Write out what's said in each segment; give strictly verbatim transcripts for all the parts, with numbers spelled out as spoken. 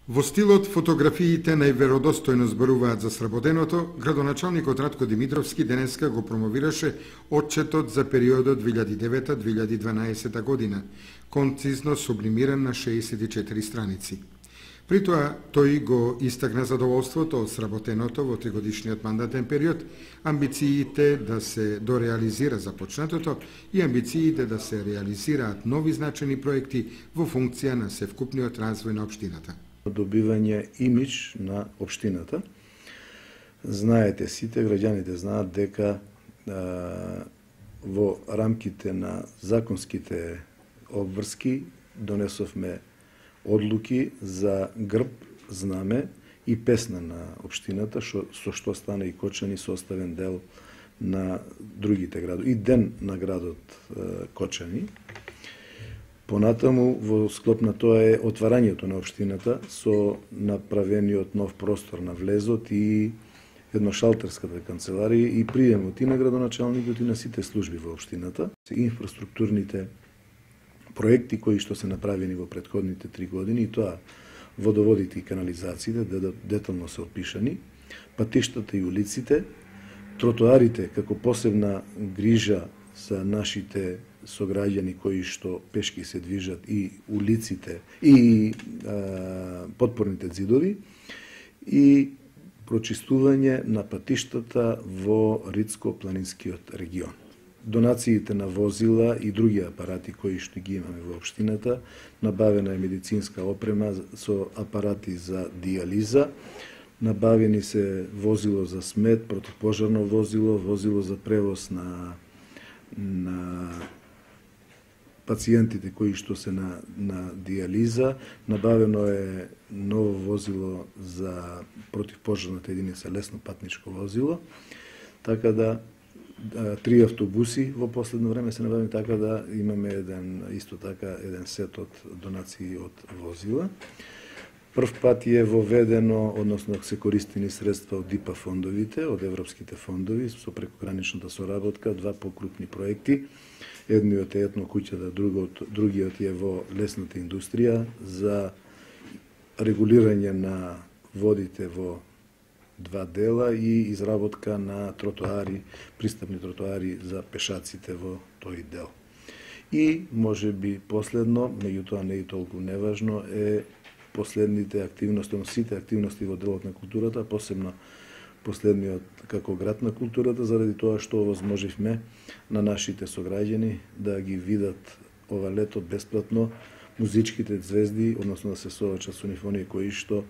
Во стилот фотографиите најверодостојно зборуваат за сработеното, градоначалникот Ратко Димитровски денеска го промовираше отчетот за периодот две илјади и девета до две илјади и дванаесета година, концизно сублимиран на шеесет и четири страници. При тоа, тој го истакна задоволството од сработеното во тригодишниот мандатен период, амбициите да се дореализира започнатото и амбициите да се реализираат нови значени проекти во функција на севкупниот развој на општината. Добивање имидж на општината. Знаете, сите граѓаните знаат дека а, во рамките на законските обврски донесовме одлуки за грб, знаме и песна на општината, шо, со што стана и Кочани составен дел на другите градови. И ден на градот е, Кочани. Понатаму, во склоп на тоа е отварањето на општината со направениот нов простор на влезот и едношалтерската канцеларија и приемот и на градоначалникот и на сите служби во општината. Инфраструктурните проекти кои што се направени во претходните три години, и тоа водоводите и канализациите, детално се опишани, патиштата и улиците, тротоарите како посебна грижа за нашите сограѓани кои што пешки се движат, и улиците и а, подпорните ѕидови, и прочистување на патиштата во Рицко-планинскиот регион. Донациите на возила и други апарати кои што ги имаме во општината, набавена е медицинска опрема со апарати за диализа, набавени се возило за смет, противпожарно возило, возило за превоз на на пациентите кои што се на, на диализа, набавено е ново возило за противпожарната единица, лесно патничко возило, така да три автобуси во последно време се набавени, така да имаме еден, исто така еден сет од донации од возила. Прв пат е воведено, односно се користени средства од ДИПА фондовите, од европските фондови, со прекограничната соработка, два покрупни проекти. Едниот е етно куќата, другиот, другиот е во лесната индустрија за регулирање на водите во два дела и изработка на тротоари, пристапни тротоари за пешаците во тој дел. И може би последно, меѓутоа не и толку неважно, е последните активности, сите активности во делот на културата, посебно последниот како град на културата, заради тоа што овозможивме на нашите сограѓани да ги видат ова лето бесплатно музичките звезди, односно да се соочат со унифонија кои што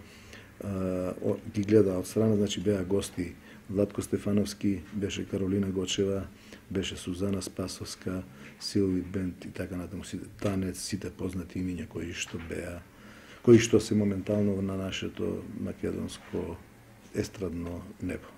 а, ги гледа од страна, значи беа гости Владко Стефановски, беше Каролина Гочева, беше Сузана Спасовска, Силви Бенд и така натаму, Танец, сите познати имиња кои што беа, кои што се моментално на нашето македонско естрадно небо.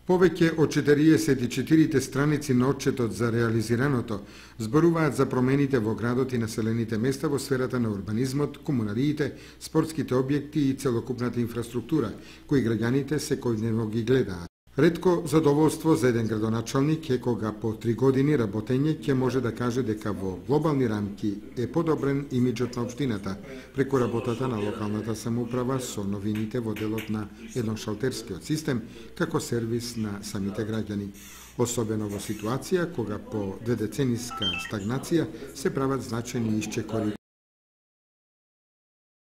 Повеќе од четириесет и четири страници на отчетот за реализираното зборуваат за промените во градот и населените места во сферата на урбанизмот, комуналиите, спортските објекти и целокупната инфраструктура, кои граѓаните секојдневно ги гледаат. Ретко задоволство за еден градоначалник е кога по три години работење ќе може да каже дека во глобални рамки е подобрен имиджот на општината преку работата на локалната самоуправа со новините во делот на едношалтерскиот систем како сервис на самите граѓани, особено во ситуација кога по дведецениска стагнација се прават значајни исчекори